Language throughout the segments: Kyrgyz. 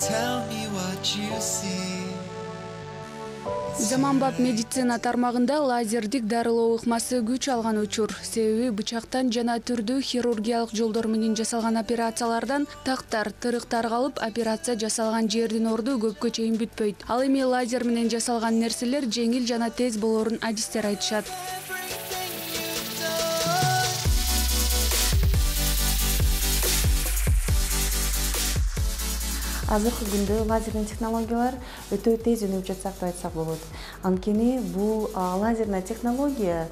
tell me what you see. Заманбап медицина тармагында лазердик дарылоо ыкмасы күч алган учур. Себеби бычактан жана түрдүү хирургиялык жолдор менен жасалган операциялардан тактар, тырыктар калып, операция жасалган жердин орду көпкө чейин бүтпөйт. Ал эми лазер менен жасалган нерселер жеңил жана тез болоорун адистер айтышат. Азыркы күндө лазерный технологиялар өтө тез өнүгүп жатсак деп айтсак болот. Анткени бул лазерный технология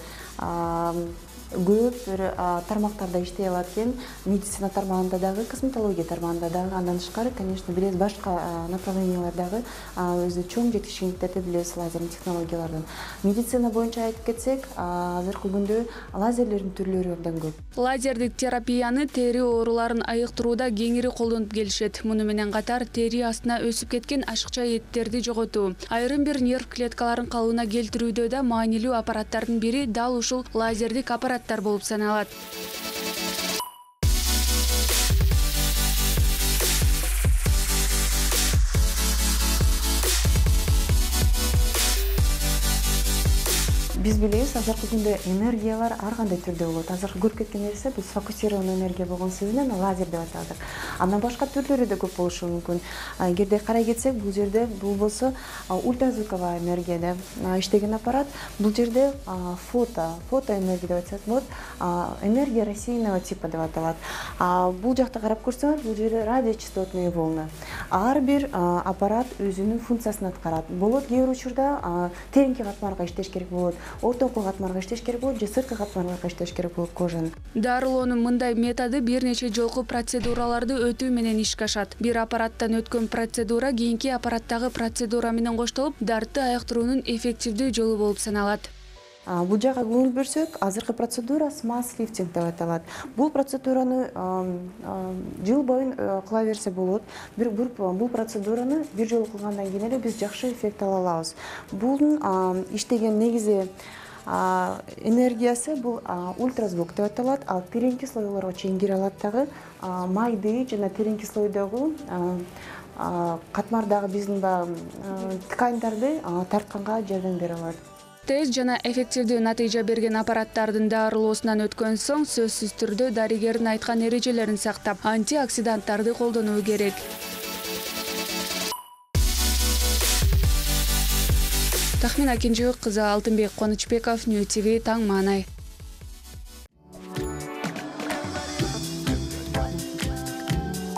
көп бир тармактарда иштей алат экен. Медицина тармагында дагы, косметология тармагында дагы, андан тышкары, конечно, билебиз, башка направлениялардагы өзү чоң жетишкендиктерди билебиз лазерный технологиялардын. Медицина боюнча айтып кетсек, азыркы күндө лазерлердин түрлөрү абдан көп. Лазердик терапияны тери ооруларын айыктырууда кеңири колдонуп келишет. Муну менен катар тери астына өсүп кеткен ашыкча эттерди жоготуу, айрым бир нерв клеткаларын калыбына келтирүүдө да маанилүү аппараттардын бири дал ушул лазердик аппараттар болуп саналат. Биз билебиз, азыркы күндө энергиялар ар кандай түрдө болот. Азыркы көрүп кеткен нерсе бул сфокусированный энергия болгон сөзүнөн лазер деп аталат. Андан башка түрлөрү да көп болушу мүмкүн. Эгерде карай кетсек, бул жерде бул болсо ультразвуковая энергия деп иштеген аппарат. Бул жерде фотоэнергия деп айтсак болот. Энергия рассеянного типа деп аталат. Бул жакта карап көрсөңөр, бул жерде радиочастотный волна. Ар бир аппарат өзүнүн функциясын аткарат. Болот кээ бир учурда тереңки катмарга иштеш керек болот. Ортоңку катмарга иштеш керек болот, же сырткы катмарга иштеш керек болот кожанын. Дарылоонун мындай методу бир нече жолку процедураларды өтүү менен ишке ашат. Бир аппараттан өткөн процедура кийинки аппараттагы процедура менен коштолуп, дартты айыктыруунун эффективдүү жолу болуп саналат. Бул жакка көңүл бөлсөк, азыркы процедура смаз лифтинг деп аталат. Бул процедураны жыл бою кыла берсе болот. Бул процедураны бир жолу кылгандан кийин эле биз жакшы эффект ала алабыз. Бунун иштеген негизи энергиясы бул ультразвук деп аталат. Ал тереңки слойлорго чейин кире алат дагы. Майды жана тереңки слойдогу катмардагы биздин тканьдарды тартканга жардам бере алат. Тез жана эффективдүү натыйжа берген аппараттардын дарылоосунан өткөн соң сөзсүз түрдө дарыгердин айткан эрежелерин сактап, антиоксиданттарды колдонуу керек. Тахмин Акинжебек кызы, Алтынбек Конучбеков, Нью ТВ, Таң Маанай.